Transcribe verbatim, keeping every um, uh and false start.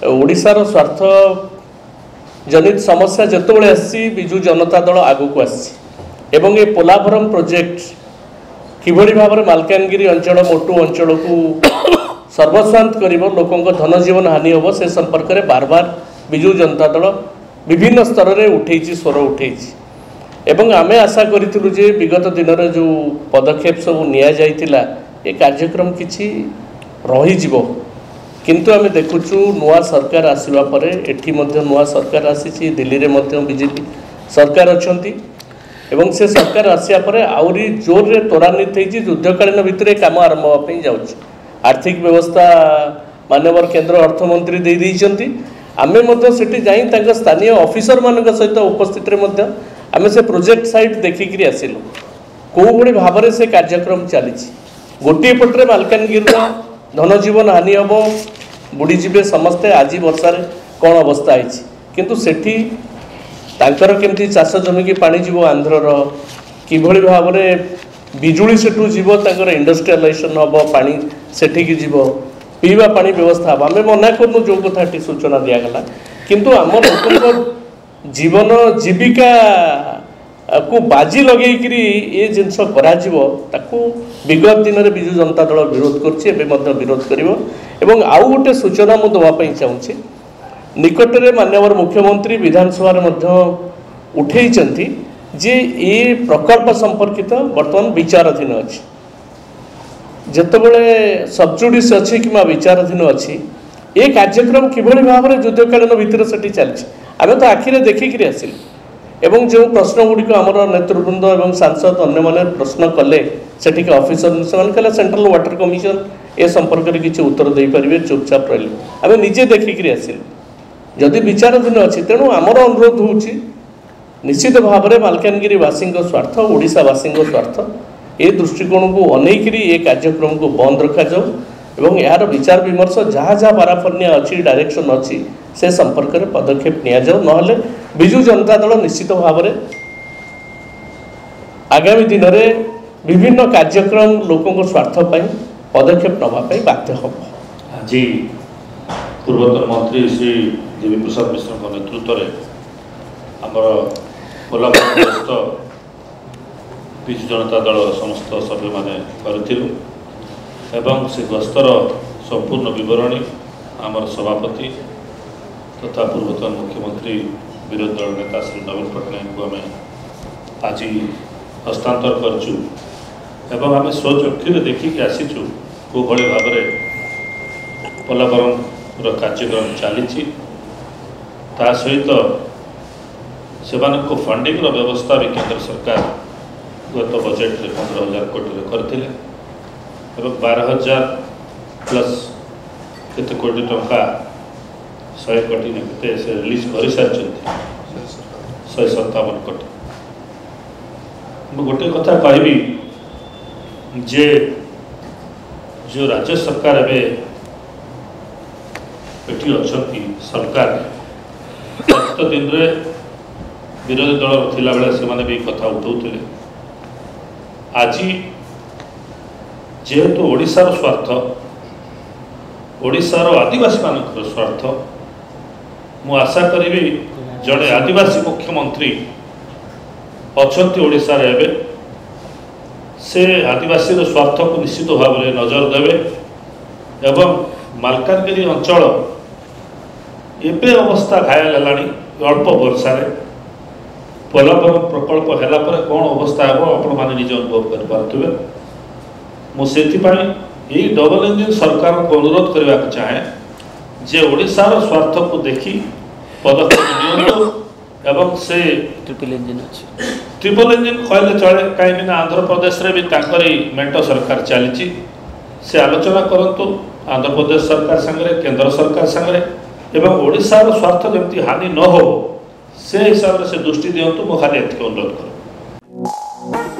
ଓଡ଼ିଶାର ସ୍ୱାର୍ଥ ଜନିତ ସମସ୍ୟା ଯେତେବେଳେ ଆସିଛି, ବିଜୁ ଜନତା ଦଳ ଆଗକୁ ଆସିଛି ଏବଂ ଏ ପୋଲାଭରମ ପ୍ରୋଜେକ୍ଟ କିଭଳି ଭାବରେ ମାଲକାନଗିରି ଅଞ୍ଚଳ, ମୋଟୁ ଅଞ୍ଚଳକୁ ସର୍ବସ୍ୱାନ୍ତ କରିବ, ଲୋକଙ୍କ ଧନଜୀବନ ହାନି ହେବ, ସେ ସମ୍ପର୍କରେ ବାର ବାର ବିଜୁ ଜନତା ଦଳ ବିଭିନ୍ନ ସ୍ତରରେ ଉଠେଇଛି, ସ୍ୱର ଉଠେଇଛି। ଏବଂ ଆମେ ଆଶା କରିଥିଲୁ ଯେ ବିଗତ ଦିନରେ ଯେଉଁ ପଦକ୍ଷେପ ସବୁ ନିଆଯାଇଥିଲା, ଏ କାର୍ଯ୍ୟକ୍ରମ କିଛି ରହିଯିବ। କିନ୍ତୁ ଆମେ ଦେଖୁଛୁ, ନୂଆ ସରକାର ଆସିବା ପରେ ଏଠି ମଧ୍ୟ ନୂଆ ସରକାର ଆସିଛି, ଦିଲ୍ଲୀରେ ମଧ୍ୟ ବିଜେପି ସରକାର ଅଛନ୍ତି ଏବଂ ସେ ସରକାର ଆସିବା ପରେ ଆହୁରି ଜୋରରେ ତ୍ୱରାନ୍ୱିତ ହେଇଛି, ଯୁଦ୍ଧକାଳୀନ ଭିତରେ କାମ ଆରମ୍ଭ ହେବା ପାଇଁ ଯାଉଛି। ଆର୍ଥିକ ବ୍ୟବସ୍ଥା ମାନ୍ୟବର କେନ୍ଦ୍ର ଅର୍ଥମନ୍ତ୍ରୀ ଦେଇ ଦେଇଛନ୍ତି। ଆମେ ମଧ୍ୟ ସେଠି ଯାଇ ତାଙ୍କ ସ୍ଥାନୀୟ ଅଫିସରମାନଙ୍କ ସହିତ ଉପସ୍ଥିତିରେ ମଧ୍ୟ ଆମେ ସେ ପ୍ରୋଜେକ୍ଟ ସାଇଟ୍ ଦେଖିକିରି ଆସିଲୁ, କେଉଁଭଳି ଭାବରେ ସେ କାର୍ଯ୍ୟକ୍ରମ ଚାଲିଛି। ଗୋଟିଏ ପଟରେ ମାଲକାନଗିରିର ଧନଜୀବନ ହାନି ହେବ, ବୁଡ଼ିଯିବେ ସମସ୍ତେ, ଆଜି ବର୍ଷାରେ କ'ଣ ଅବସ୍ଥା ହେଇଛି, କିନ୍ତୁ ସେଠି ତାଙ୍କର କେମିତି ଚାଷ ଜମିକି ପାଣି ଯିବ, ଆନ୍ଧ୍ରର କିଭଳି ଭାବରେ ବିଜୁଳି ସେଠୁ ଯିବ, ତାଙ୍କର ଇଣ୍ଡଷ୍ଟ୍ରିଆଲାଇଜେସନ୍ ହେବ, ପାଣି ସେଠିକି ଯିବ, ପିଇବା ପାଣି ବ୍ୟବସ୍ଥା ହେବ, ଆମେ ମନା କରୁନୁ ଯେଉଁ କଥାଟି ସୂଚନା ଦିଆଗଲା। କିନ୍ତୁ ଆମ ଲୋକଙ୍କ ଜୀବନ ଜୀବିକାକୁ ବାଜି ଲଗେଇକିରି ଏ ଜିନିଷ କରାଯିବ, ତାକୁ ବିଗତ ଦିନରେ ବିଜୁ ଜନତା ଦଳ ବିରୋଧ କରୁଛି, ଏବେ ମଧ୍ୟ ବିରୋଧ କରିବ। ଏବଂ ଆଉ ଗୋଟେ ସୂଚନା ମୁଁ ଦେବା ପାଇଁ ଚାହୁଁଛି, ନିକଟରେ ମାନ୍ୟବର ମୁଖ୍ୟମନ୍ତ୍ରୀ ବିଧାନସଭାରେ ମଧ୍ୟ ଉଠେଇଛନ୍ତି ଯେ ଏ ପ୍ରକଳ୍ପ ସମ୍ପର୍କିତ ବର୍ତ୍ତମାନ ବିଚାରାଧୀନ ଅଛି। ଯେତେବେଳେ ସବଜୁଡ଼ିସ୍ ଅଛି କିମ୍ବା ବିଚାରାଧୀନ ଅଛି, ଏ କାର୍ଯ୍ୟକ୍ରମ କିଭଳି ଭାବରେ ଯୁଦ୍ଧକାଳୀନ ଭିତରେ ସେଠି ଚାଲିଛି, ଆମେ ତ ଆଖିରେ ଦେଖିକିରି ଆସିଲୁ। ଏବଂ ଯେଉଁ ପ୍ରଶ୍ନ ଗୁଡ଼ିକ ଆମର ନେତୃବୃନ୍ଦ ଏବଂ ସାଂସଦ ଅନ୍ୟମାନେ ପ୍ରଶ୍ନ କଲେ ସେଠିକି ଅଫିସର, ସେମାନେ କହିଲେ ସେଣ୍ଟ୍ରାଲ ୱାଟର କମିଶନ ଏ ସମ୍ପର୍କରେ କିଛି ଉତ୍ତର ଦେଇପାରିବେ, ଚୁପଚାପ ରହିଲେ। ଆମେ ନିଜେ ଦେଖିକିରି ଆସିଲୁ। ଯଦି ବିଚାରାଧୀନ ଅଛି, ତେଣୁ ଆମର ଅନୁରୋଧ ହେଉଛି, ନିଶ୍ଚିତ ଭାବରେ ମାଲକାନଗିରିବାସୀଙ୍କ ସ୍ୱାର୍ଥ, ଓଡ଼ିଶାବାସୀଙ୍କ ସ୍ୱାର୍ଥ, ଏ ଦୃଷ୍ଟିକୋଣକୁ ଅନେଇକିରି ଏ କାର୍ଯ୍ୟକ୍ରମକୁ ବନ୍ଦ ରଖାଯାଉ ଏବଂ ଏହାର ବିଚାର ବିମର୍ଶ, ଯାହା ଯାହା ପାରାଫର୍ନିଆ ଅଛି, ଡାଇରେକ୍ସନ୍ ଅଛି, ସେ ସମ୍ପର୍କରେ ପଦକ୍ଷେପ ନିଆଯାଉ। ନହେଲେ ବିଜୁ ଜନତା ଦଳ ନିଶ୍ଚିତ ଭାବରେ ଆଗାମୀ ଦିନରେ ବିଭିନ୍ନ କାର୍ଯ୍ୟକ୍ରମ ଲୋକଙ୍କ ସ୍ୱାର୍ଥ ପାଇଁ ପଦକ୍ଷେପ ନେବା ପାଇଁ ବାଧ୍ୟ ହେବ। ଆଜି ପୂର୍ବତନ ମନ୍ତ୍ରୀ ଶ୍ରୀ ଦେବୀ ପ୍ରସାଦ ମିଶ୍ରଙ୍କ ନେତୃତ୍ୱରେ ଆମର ପୋଲାଭରମ ଗସ୍ତ ବିଜୁ ଜନତା ଦଳର ସମସ୍ତ ସଭ୍ୟମାନେ କରିଥିଲୁ ଏବଂ ସେ ଗସ୍ତର ସମ୍ପୂର୍ଣ୍ଣ ବିବରଣୀ ଆମର ସଭାପତି ତଥା ପୂର୍ବତନ ମୁଖ୍ୟମନ୍ତ୍ରୀ, ବିରୋଧୀ ଦଳ ନେତା ଶ୍ରୀ ନବୀନ ପଟ୍ଟନାୟକଙ୍କୁ ଆମେ ଆଜି ହସ୍ତାନ୍ତର କରିଛୁ। ଏବଂ ଆମେ ସ୍ୱଚକ୍ଷୁରେ ଦେଖିକି ଆସିଛୁ କେଉଁଭଳି ଭାବରେ ପୋଲାଭରମର କାର୍ଯ୍ୟକ୍ରମ ଚାଲିଛି। ତା ସହିତ ସେମାନଙ୍କୁ ଫଣ୍ଡିଂର ବ୍ୟବସ୍ଥା ବି କେନ୍ଦ୍ର ସରକାର ଗତ ବଜେଟରେ ପନ୍ଦର ହଜାର କୋଟିରେ କରିଥିଲେ ଏବଂ ବାର ହଜାର ପ୍ଲସ୍ କେତେ କୋଟି ଟଙ୍କା, ଶହେ କୋଟି ନା କେତେ ସେ ରିଲିଜ୍ କରିସାରିଛନ୍ତି, ଶହେ ସତାବନ କୋଟି। ମୁଁ ଗୋଟେ କଥା କହିବି ଯେ ଯେଉଁ ରାଜ୍ୟ ସରକାର ଏବେ ଏଠି ଅଛନ୍ତି ସରକାର, ଗତ ଦିନରେ ବିରୋଧୀ ଦଳ ଥିଲାବେଳେ ସେମାନେ ବି କଥା ଉଠାଉଥିଲେ। ଆଜି ଯେହେତୁ ଓଡ଼ିଶାର ସ୍ୱାର୍ଥ, ଓଡ଼ିଶାର ଆଦିବାସୀମାନଙ୍କର ସ୍ୱାର୍ଥ, ମୁଁ ଆଶା କରିବି ଜଣେ ଆଦିବାସୀ ମୁଖ୍ୟମନ୍ତ୍ରୀ ଅଛନ୍ତି ଓଡ଼ିଶାରେ ଏବେ, ସେ ଆଦିବାସୀର ସ୍ୱାର୍ଥକୁ ନିଶ୍ଚିତ ଭାବରେ ନଜର ଦେବେ। ଏବଂ ମାଲକାନଗିରି ଅଞ୍ଚଳ ଏବେ ଅବସ୍ଥା ଘାୟଲ ହେଲାଣି ଅଳ୍ପ ବର୍ଷାରେ, ପୋଲାଭରମ ପ୍ରକଳ୍ପ ହେଲା ପରେ କ'ଣ ଅବସ୍ଥା ହେବ ଆପଣମାନେ ନିଜେ ଅନୁଭବ କରିପାରୁଥିବେ। ମୁଁ ସେଥିପାଇଁ ଏଇ ଡବଲ ଇଞ୍ଜିନ୍ ସରକାରଙ୍କୁ ଅନୁରୋଧ କରିବାକୁ ଚାହେଁ ଯେ ଓଡ଼ିଶାର ସ୍ୱାର୍ଥକୁ ଦେଖି ପଦକ୍ଷେପ ନିଅନ୍ତୁ। ଏବଂ ସେ ଟ୍ରିପଲ୍ ଇଞ୍ଜିନ୍ ଅଛି, ଟ୍ରିପଲ୍ ଇଞ୍ଜିନ୍ କହିଲେ ଚଳେ, କାହିଁକିନା ଆନ୍ଧ୍ରପ୍ରଦେଶରେ ବି ତାଙ୍କରି ମେଣ୍ଟ ସରକାର ଚାଲିଛି। ସେ ଆଲୋଚନା କରନ୍ତୁ ଆନ୍ଧ୍ରପ୍ରଦେଶ ସରକାର ସାଙ୍ଗରେ, କେନ୍ଦ୍ର ସରକାର ସାଙ୍ଗରେ ଏବଂ ଓଡ଼ିଶାର ସ୍ୱାର୍ଥ ଯେମିତି ହାନି ନ ହେବ ସେ ହିସାବରେ ସେ ଦୃଷ୍ଟି ଦିଅନ୍ତୁ। ମୁଁ ଖାଲି ଏତିକି ଅନୁରୋଧ କରିବି।